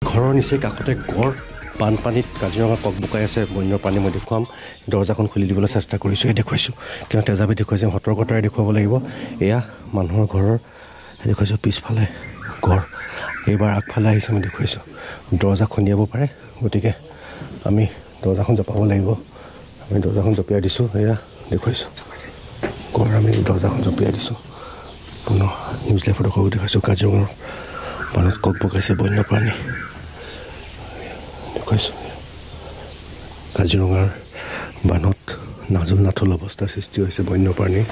ঘৰৰ নিচেই কাষতে গড়। বানপানীত কাজিৰঙা ককবকাই আছে বন্যপ্ৰাণী। মই দেখুৱাম, দৰ্জাখন খুলি দিবলৈ চেষ্টা কৰিছোঁ, এই দেখুৱাইছোঁ। কিয় তেজাবি দেখুৱাইছোঁ, সতৰ্কতাৰে দেখুৱাব লাগিব। এয়া মানুহৰ ঘৰৰ দেখুৱাইছোঁ, পিছফালে গড়। এইবাৰ আগফালে আহিছে, আমি দেখুৱাইছোঁ। দৰ্জা খুন্দিয়াব পাৰে, গতিকে আমি দৰ্জাখন জপাব লাগিব। আমি দৰ্জাখন জপিয়াই দিছোঁ, এয়া দেখুৱাইছোঁ গড়। আমি দৰ্জাখন জপিয়াই দিছোঁ। পুনৰ নিউজ লাইভৰ দৰ্শকক দেখুৱাইছোঁ, কাজিৰঙাৰ বানত ককবকাইছে বন্যপ্ৰাণী। দেখুৱাইছোঁ কাজিৰঙাৰ বানত নাজল নাথল অৱস্থাৰ সৃষ্টি হৈছে বন্যপ্ৰাণীৰ।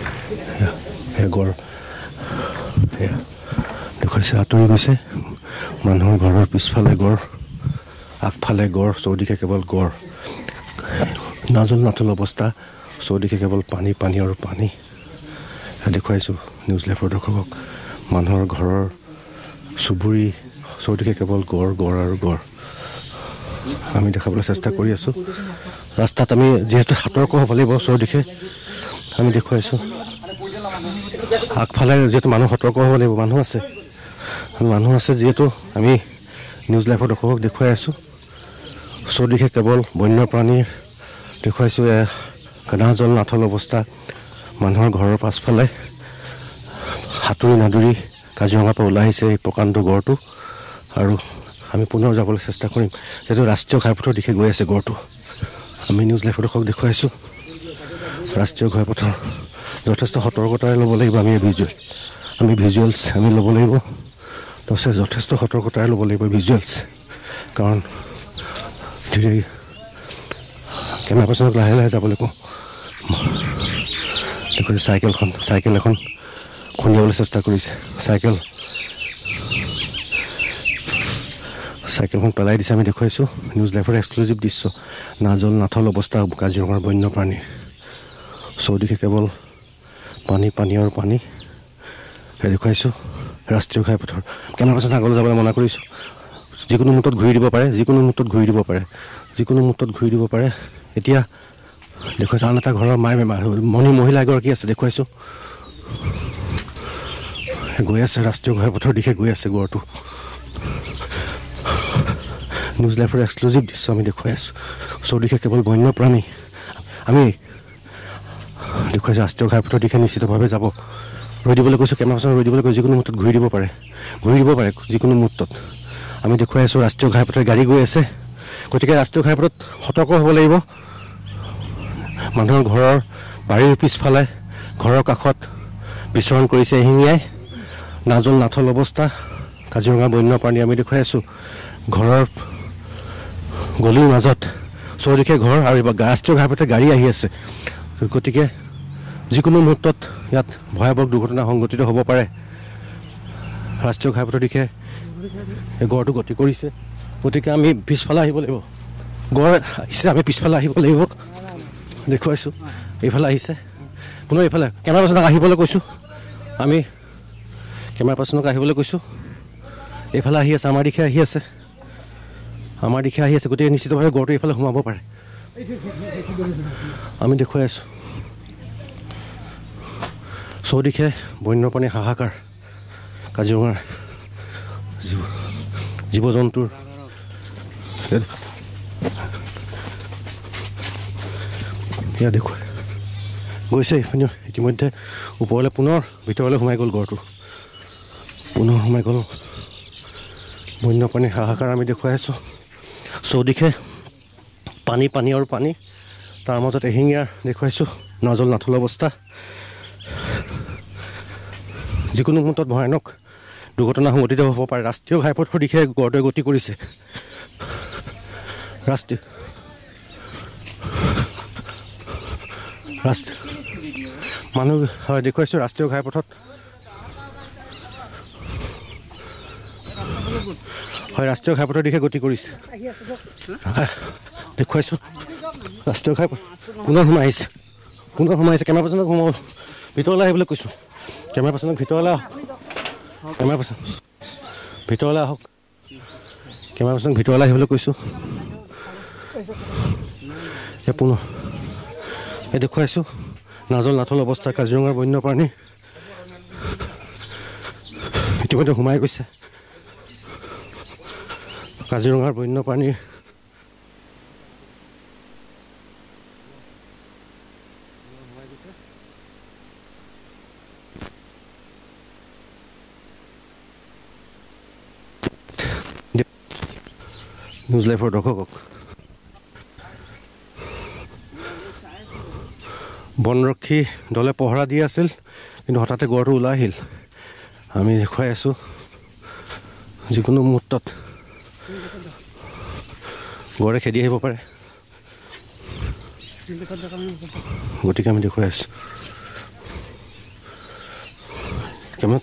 সেয়া গড়, সেয়া দেখুৱাইছে, আঁতৰি গৈছে। মানুহৰ ঘৰৰ পিছফালে গড়, আগফালে গড়, চৌদিশে কেৱল গড়। নাজল নাথল অৱস্থা, চৌদিশে কেৱল পানী, পানী আৰু পানী। দেখুৱাইছোঁ নিউজ লাইভৰ দৰ্শকক, মানুহৰ ঘৰৰ চুবুৰী, চৌদিশে কেৱল গড়, গড় আৰু গড়। আমি দেখাবলৈ চেষ্টা কৰি আছোঁ। ৰাস্তাত আমি যিহেতু সতৰ্ক হ'ব লাগিব, চৌদিশে আমি দেখুৱাইছোঁ। আগফালে যিহেতু মানুহ সতৰ্ক হ'ব লাগিব, মানুহ আছে, মানুহ আছে যিহেতু আমি নিউজ লাইভৰ দৰ্শকক দেখুৱাই আছোঁ। চৌদিশে কেৱল বন্যপ্ৰাণীৰ দেখুৱাইছোঁ। নাজল নাথল অৱস্থা মানুহৰ ঘৰৰ পাছফালে। সাঁতুৰি নাদুৰি কাজিৰঙাৰ পৰা ওলাই আহিছে এই প্ৰকাণ্ড গড়টো। আৰু আমি পুনৰ যাবলৈ চেষ্টা কৰিম, যিহেতু ৰাষ্ট্ৰীয় ঘাইপথৰ দিশে গৈ আছে গড়টো। আমি নিউজ লাইভৰ দৰ্শকক দেখুৱাইছোঁ ৰাষ্ট্ৰীয় ঘাইপথৰ। যথেষ্ট সতৰ্কতাৰে ল'ব লাগিব আমি ভিজুৱেল, আমি ভিজুৱেলছ আমি ল'ব লাগিব। তাৰপিছত যথেষ্ট সতৰ্কতাৰে ল'ব লাগিব ভিজুৱেলছ, কাৰণ ধীৰে কেমেৰা পাৰ্চনক লাহে লাহে যাবলৈ কওঁ। দেখুৱাইছোঁ চাইকেলখন, চাইকেল এখন খুন্দিয়াবলৈ চেষ্টা কৰিছে। চাইকেলখন পেলাই দিছে। আমি দেখুৱাইছোঁ নিউজ লাইভৰ এক্সক্লুজিভ দৃশ্য। নাজল নাথল অৱস্থা কাজিৰঙাৰ বন্যপ্ৰাণীৰ। চৌদিশে কেৱল পানী, পানী আৰু পানী। দেখুৱাইছোঁ ৰাষ্ট্ৰীয় ঘাইপথৰ। কেমেৰা পাৰ্চন আগলৈ যাবলৈ মানা কৰিছোঁ। যিকোনো মুহূৰ্তত ঘূৰি দিব পাৰে, যিকোনো মুহূৰ্তত ঘূৰি দিব পাৰে, যিকোনো মুহূৰ্তত ঘূৰি দিব পাৰে। এতিয়া দেখুৱাইছোঁ আন এটা ঘৰৰ মায়ে মণি মহিলা এগৰাকী আছে, দেখুৱাইছোঁ। গৈ আছে ৰাষ্ট্ৰীয় ঘাইপথৰ দিশে গৈ আছে গড়টো। নিউজ লাইভৰ এক্সক্লুজিভ দৃশ্য আমি দেখুৱাই আছোঁ। চৌদিশে কেৱল বন্যপ্ৰাণী। আমি দেখুৱাইছোঁ ৰাষ্ট্ৰীয় ঘাইপথৰ দিশে নিশ্চিতভাৱে যাব। ৰৈ দিবলৈ কৈছোঁ, কেমেৰা পাৰ্চন ৰৈ দিবলৈ কৈছোঁ। যিকোনো মুহূৰ্তত ঘূৰি দিব পাৰে, ঘূৰি দিব পাৰে যিকোনো মুহূৰ্তত। আমি দেখুৱাই আছোঁ ৰাষ্ট্ৰীয় ঘাইপথৰ গাড়ী গৈ আছে। গতিকে ৰাষ্ট্ৰীয় ঘাইপথত সতৰ্ক হ'ব লাগিব। মানুহৰ ঘৰৰ বাৰীৰ পিছফালে, ঘৰৰ কাষত বিচৰণ কৰিছে এশিঙীয়াই। নাজল নাথল অৱস্থা কাজিৰঙা বন্যপ্ৰাণী। আমি দেখুৱাই আছোঁ ঘৰৰ গলিৰ মাজত চৌদিশে ঘৰ আৰু ৰাষ্ট্ৰীয় ঘাইপথে গাড়ী আহি আছে। গতিকে যিকোনো মুহূৰ্তত ইয়াত ভয়াৱহ দুৰ্ঘটনা সংঘটিত হ'ব পাৰে। ৰাষ্ট্ৰীয় ঘাইপথৰ দিশে এই গড়টো গতি কৰিছে। গতিকে আমি পিছফালে আহিব লাগিব। গড় আহিছে, আমি পিছফালে আহিব লাগিব। দেখুৱাইছোঁ এইফালে আহিছে। পুনৰ এইফালে কেমেৰা পাৰ্চনক আহিবলৈ কৈছোঁ, আমি কেমেৰা পাৰ্চনক আহিবলৈ কৈছোঁ। এইফালে আহি আছে, আমাৰ দিশে আহি আছে, আমাৰ দিশে আহি আছে। গতিকে নিশ্চিতভাৱে গড়টো এইফালে সোমাব পাৰে। আমি দেখুৱাই আছোঁ চৌদিশে বন্যপ্ৰাণীৰ হাহাকাৰ। কাজিৰঙাৰ জীৱ জন্তুৰ এয়া দেখুৱাই গৈছে। ইপিনে ইতিমধ্যে ওপৰলৈ পুনৰ ভিতৰলৈ সোমাই গ'ল গড়টো, পুনৰ সোমাই গ'ল। বন্যপ্ৰাণীৰ হাহাকাৰ আমি দেখুৱাই আছোঁ। চৌদিশে পানী, পানী আৰু পানী। তাৰ মাজত এশিঙীয়াৰ দেখুৱাইছোঁ নাজল নাথল অৱস্থা। যিকোনো মুহূৰ্তত ভয়ানক দুৰ্ঘটনা সংঘটিত হ'ব পাৰে। ৰাষ্ট্ৰীয় ঘাইপথৰ দিশে গড়টোৱে গতি কৰিছে। ৰাষ্ট্ৰীয় ৰাষ্ট্ৰ মানুহ হয় দেখুৱাইছোঁ ৰাষ্ট্ৰীয় ঘাইপথত। হয়, ৰাষ্ট্ৰীয় ঘাইপথৰ দিশে গতি কৰিছে। দেখুৱাইছোঁ ৰাষ্ট্ৰীয় ঘাইপথ পুনৰ সোমাই আহিছে, পুনৰ সোমাই আহিছে। কেমেৰা পাৰ্চনক সোমাব, ভিতৰলৈ আহিবলৈ কৈছোঁ। কেমেৰা পাৰ্চনক ভিতৰলৈ আহক, কেমেৰা পাৰ্চন ভিতৰলৈ আহক, কেমেৰা পাৰ্চনক ভিতৰলৈ আহিবলৈ কৈছোঁ। এই পুনৰ এই দেখুৱাইছোঁ নাজল নাথল অৱস্থা কাজিৰঙাৰ বন্যপ্ৰাণী। ইতিমধ্যে সোমাই গৈছে। কাজিৰঙাৰ বন্যপ্ৰাণীৰ নিউজ লাইভৰ দৰ্শকক বনৰক্ষী দলে পহৰা দি আছিল, কিন্তু হঠাতে গড়টো ওলাই আহিল। আমি দেখুৱাই আছোঁ যিকোনো মুহূৰ্তত গড়ে খেদি আহিব পাৰে, গতিকে আমি দেখুৱাই আছোঁ। কেমেৰা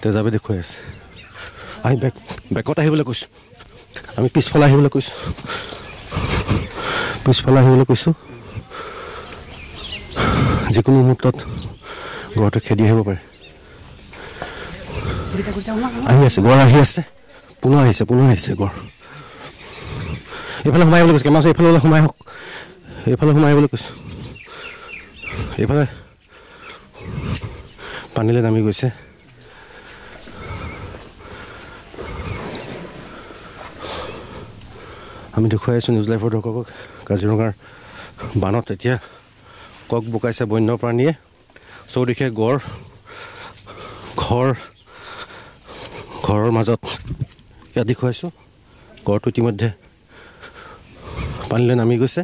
তেজাবে দেখুৱাই আছে। আমি বেকত আহিবলৈ কৈছোঁ, আমি পিছফালে আহিবলৈ কৈছোঁ, পিছফালে আহিবলৈ কৈছোঁ। যিকোনো মুহূৰ্তত গড়টো খেদি আহিব পাৰে। আহি আছে গড়, আহি আছে, পুনৰ আহিছে, পুনৰ আহিছে গড়। এইফালে সোমাই আহিবলৈ কৈছোঁ, কেমেৰা এইফালে সোমাই আহক, এইফালে সোমাই আহিবলৈ কৈছোঁ। এইফালে পানীলৈ নামি গৈছে। আমি দেখুৱাই আছোঁ নিউজ লাইভৰ দৰ্শকক কাজিৰঙাৰ বানত এতিয়া কক বোকাইছে বন্যপ্ৰাণীয়ে। চৌদিশে গড়, ঘৰ, ঘৰৰ মাজত ইয়াত দেখুৱাইছোঁ গড়টো ইতিমধ্যে পানীলৈ নামি গৈছে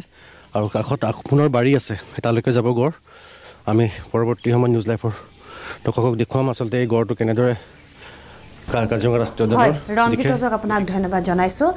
আৰু কাষত পুনৰ বাৰী আছে, তালৈকে যাব গড়। আমি পৰৱৰ্তী সময়ত নিউজ লাইভৰ দৰ্শকক দেখুৱাম আচলতে এই গড়টো কেনেদৰে কাজিৰঙা ৰাষ্ট্ৰীয় উদ্যানৰ। ৰঞ্জিত, আপোনাক ধন্যবাদ জনাইছোঁ।